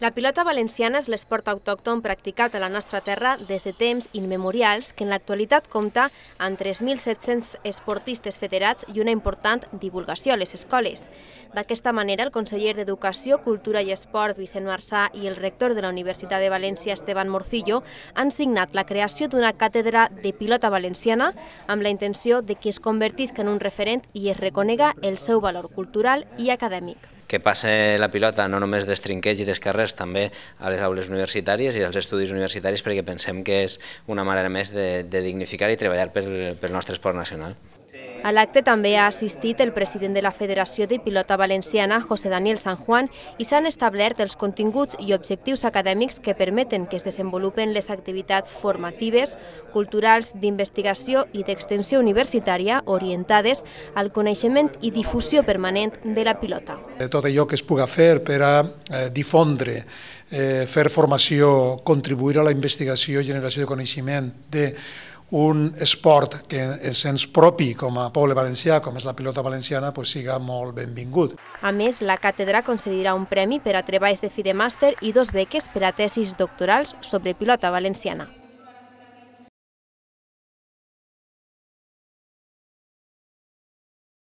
La pilota valenciana és l'esport autòcton practicat a la nostra terra des de temps immemorials, que en l'actualitat compta amb 3.700 esportistes federats i una important divulgació a les escoles. D'aquesta manera, el conseller d'Educació, Cultura i Esport, Vicent Marsà, i el rector de la Universitat de València, Esteban Morcillo, han signat la creació d'una càtedra de pilota valenciana amb la intenció de que es convertisca en un referent i es reconega el seu valor cultural i acadèmic. Que passe la pilota no només dels trinquets i dels carrers, també a les aules universitàries i als estudis universitaris, perquè pensem que és una manera més de dignificar i treballar pel nostre esport nacional. A l'acte també ha assistit el president de la Federació de Pilota Valenciana, José Daniel San Juan, i s'han establert els continguts i objectius acadèmics que permeten que es desenvolupen les activitats formatives, culturals, d'investigació i d'extensió universitària orientades al coneixement i difusió permanent de la pilota. Tot allò que es puga fer per a difondre, fer formació, contribuir a la investigació i generació de coneixement d'un esport que és sens propi com a poble valencià, com és la pilota valenciana, siga molt benvingut. A més, la càtedra concedirà un premi per a treballs de fi de màster i 2 beques per a tesis doctorals sobre pilota valenciana.